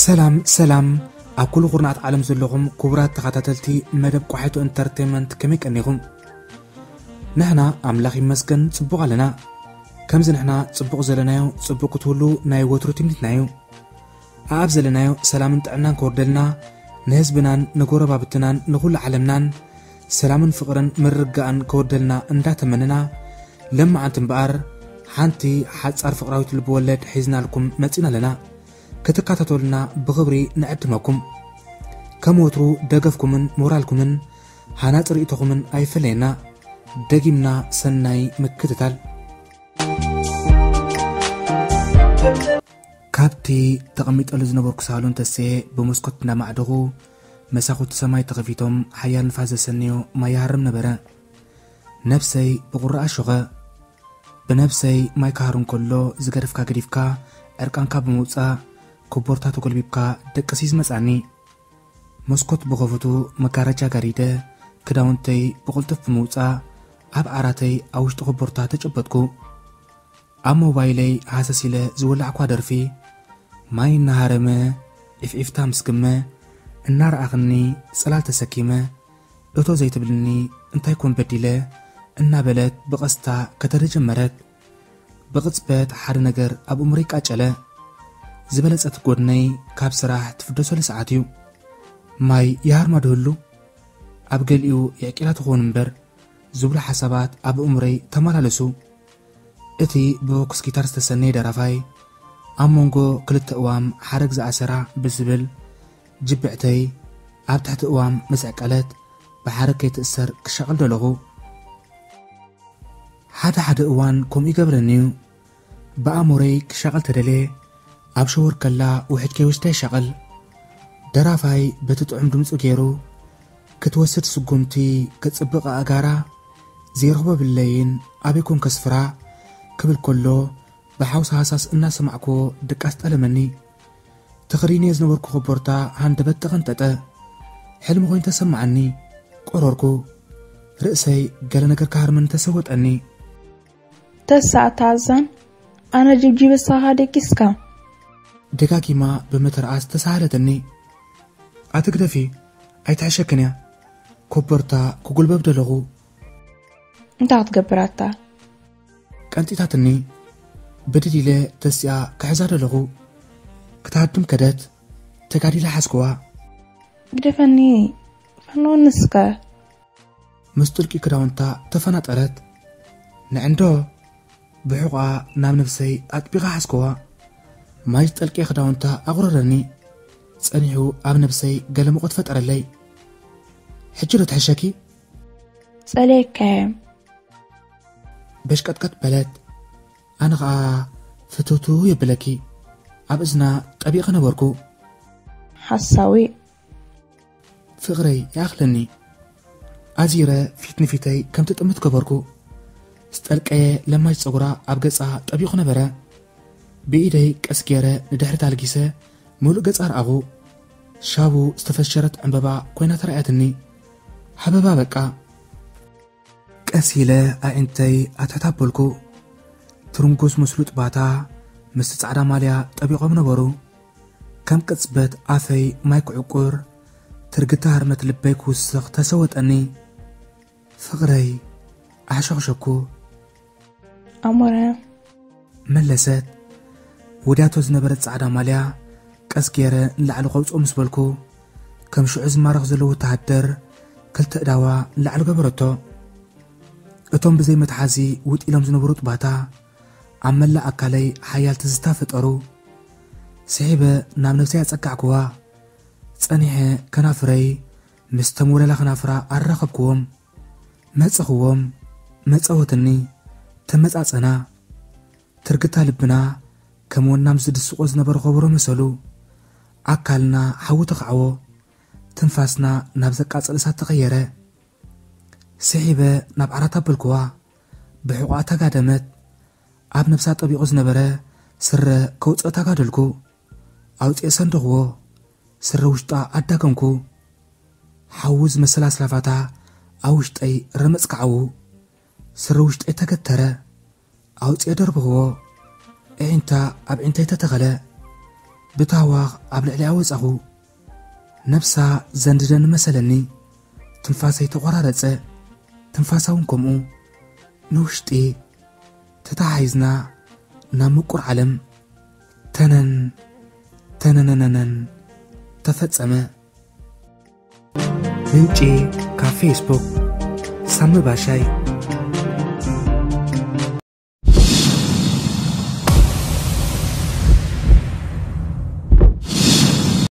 ሰላም ሰላም፣ ኣብ ኩሉ ኩርናዓት ዓለም ዘለኹም ክቡራት ተኸታተልቲ መደብ ቋሒቶ ኢንተርቴንመንት፣ ከመይ ቀኒኹም? ንሕና ኣምላኽ ይመስገን ጽቡቕ ኣለና። ከምዚ ንሕና ጽቡቕ ዘለናዮ ጽቡቕ ክትህሉ ናይ ወትሩ ትምኒትና እዩ። ኣኣብ ዘለናዮ ሰላምን ጥዕናን ከወርደልና፣ ንህዝብናን ንጎረባብትናን ንኹሉ ዓለምናን ሰላምን ፍቕርን ምርግጋእን ከወርደልና እንዳተመነና፣ ለማዓንቲ እምበኣር ሓንቲ ሓጻር ፍቕራዊት ልብወለድ ሒዝናልኩም መጺና ኣለና። ክትከታተሉና ብኽብሪ ንዕድመኩም። ከም ወትሩ ደገፍኩምን ሞራልኩምን ሃናጺ ርእይቶኹምን ኣይፈለየና። ደጊምና ሰናይ ምክትታል። ካብቲ ተቐሚጠሉ ዝነበርኩ ሳሎን ተስኤ ብመስኮት እንዳማዕደኹ መሳኹቲ ሰማይ ተኸፊቶም ሓያል ንፋስ ዘሰንዮ ማይ ይሃርም ነበረ። ነብሰይ ብቑሪ ኣሾኸ። ብነብሰይ ማይ ክሃሩ እንከሎ ዝገደፍካ ገዲፍካ ዕርቃንካ ብምውጻእ ኮቦርታ ተጎልቢብካ ደቅስ እዩ ዝመጻኒ። መስኮት ብኸፍቱ መጋረጃ ጋሪደ ክዳውንተይ ብቕልጡፍ ብምውጻእ ኣብ ዓራተይ ኣብ ውሽጢ ኮቦርታ ተጨበጥኩ። ኣብ ሞባይለይ ሃሰስ ኢለ ዝወላዕኳ ደርፊ ማይ እናሃረመ ዒፍዒፍታ ምስ ግመ እናረኣኽኒ ጽላል ተሰኪመ እቶ ዘይትብልኒ እንታይ ኮን በዲለ እናበለት ብቐስታ ከተደ ጀመረት። ብቕጽበት ሓደ ነገር ኣብ እምሮይ ቃጨለ። ዝበለጸት ጎድነይ ካብ ስራሕ ትፍደሰሉ ሰዓት እዩ። ማይ ይሃርማ ድህሉ ኣብ ገሊኡ የዕቂላ ትኸውን እምበር ዝብሉ ሓሳባት ኣብ እምሮይ ተመላለሱ። እቲ ብቦክስ ጊታር ዝተሰነየ ደራፋይ ኣብ መንጎ ክልተ እዋም ሓረግ ዝኣሰራ ብዝብል ጅብዕተይ ኣብ ትሕቲ እዋም ምስ ዕቀለት ብሓረግ ከይትእሰር ክሻቐል ደለኹ። ሓደ ሓደ እዋን ከምኡ ይገብረኒ እዩ። ብኣእምሮይ ክሻቐል ተደልየ ኣብ ሸወር ከላ ውሕጅ ከይወስዳ ይሻቐል። ደራፋይ በቲ ጥዑም ድምፁ ገይሩ ክትወስድ ስጉምቲ ክጽብቕ ኣእጋራ ዘይረኽቦ ብለይን ኣበይ ኮን ከስፍራ ክብል ከሎ ብሓውሲ ሃሳስ እናሰማዕክዎ ድቃስ ጠለመኒ። ተኸዲነዮ ዝነበርኩ ኮቦርታ ሃንደበት ተቐንጠጠ። ሕልሚ ኮይኑ ተሰማዓኒ። ቆረርኩ። ርእሰይ ገለ ነገር ክሃርመኒ ተሰወጠኒ። ተሳእታዛን ኣነ ጅብጂብ እሳኻ ደቂስካ። ደጋጊማ ብምትርኣስ ተሳሃለተኒ። ኣትግደፊ፣ ኣይትሕሸክን እያ። ኮቦርታ ክጉልበብ ደለኹ። እንታይ ክትገብር ኣታ? ቀንጢታትኒ። ብድድ ኢለ ተሲኣ ክሕዛ ደለኹ። ክትሃድም ከደት። ተጋዲለ ሓዝክዋ። ግደፈኒ፣ ፈንወኒ እስከ። ምስ ጥልቂ ክዳውንታ ተፈናጠረት። ንዕንዶ ብሕቑኣ ናብ ነብሰይ ኣጥቢቓ ሓዝክዋ። ማይ ዝጠልቀየ ክዳውንታ ኣቑረረኒ። ጸኒሑ ኣብ ነብሰይ ገለ ሙቐት ፈጠረለይ። ሕጂ ዶ ትሕሸኪ? ጸልየካየ። በሽቀጥቀጥ በለት። ኣነ ኸኣ ፍትውትው የብለኪ ኣብ እዝና ጠቢቐ ነበርኩ። ሓሳዊ። ፍቕረይ ይኣኽለኒ። ኣዚረ ፊት ንፊተይ ከም ትጥምት ገበርኩ። ዝጠልቀየ ለማጅ ጸጉራ ኣብ ገጻ ጠቢቑ ነበረ። ብኢደይ ቀስ ገይረ ንድሕሪት ኣልጊሰ ምሉእ ገጻ ረኣኹ። ሻቡ ዝተፈሸረት ዕምበባ ኮይና ተራእያትኒ። ሃበባ በቃ። ቀስ ኢለ ኣዒንተይ ኣትሕት ኣበልኩ። ትርንጎ ዝመስሉ ጥባታ ምስቲ ጻዕዳ ማልያ ጠቢቖም ነበሩ። ከም ቅጽበት ኣፈይ ማይ ክዕቁር፣ ትርግታ ህርመት ልበይ ክውስኽ ተሰወጠኒ። ፍቕረይ ኣሕሸኽሸኩ። ኣሞረ መለሰት። ወዲያቶ ዝነበረት ጻዕዳ ማልያ ቀስ ገይረ ንላዕሊ ከውጽኦ ምስ በልኩ፣ ከም ሽዑ ዝማረኽ ዘሎ ወተሃደር ክልተ እዳዋ ንላዕሊ ገበረቶ። እቶም ብዘይ መትሓዚ ውጥ ኢሎም ዝነበሩ ጥባታ ኣብ መላእ ኣካለይ ሓያል ትዝታ ፈጠሩ። ስሒበ ናብ ነብሰይ ኣጸጋዕክዋ። ጸኒሐ ከናፍረይ ምስ ተመውለላ ከናፍራ ኣራኸብክዎም። መጸኽዎም። መጸወትኒ። ተመጻጸና። ትርግታ ልብና ከም ወናም ዝድስቆ ዝነበረ ከበሮ መሰሉ። ኣካልና ሓዊ ተኻዕዎ። ትንፋስና ናብ ዘቃጽል እሳት ተቐየረ። ስሒበ ናብ ዓራት ኣበልክዋ። ብሕቑኣ ተጋደመት። ኣብ ነብሳ ጠቢቑ ዝነበረ ስረ ከውጽኦ ተጋደልኩ። ኣውጽኤ ሰንደኽዎ። ስረ ውሽጣ ኣዳገንኩ። ሓዊ ዝመስል ኣስላፋታ ኣብ ውሽጠይ ረመጽ ከዓዉ። ስረ ውሽጠይ ተገተረ። ኣውጽኤ ደርብኽዎ። ኣዒንታ ኣብ ኣዒንተይ ተተኸለ። ብታህዋኽ ኣብ ልዕሊኣ ወጻኹ። ነብሳ ዘንድደኒ መሰለኒ። ትንፋሰይ ተቖራረጸ። ትንፋሳ እውን ከምኡ። ንውሽጢ ተተሓሒዝና ናብ ምቁር ዓለም ተነን ተነነነነን ተፈጸመ። ምንጪ ካብ ፌስቡክ ሳሚ ባሻይ።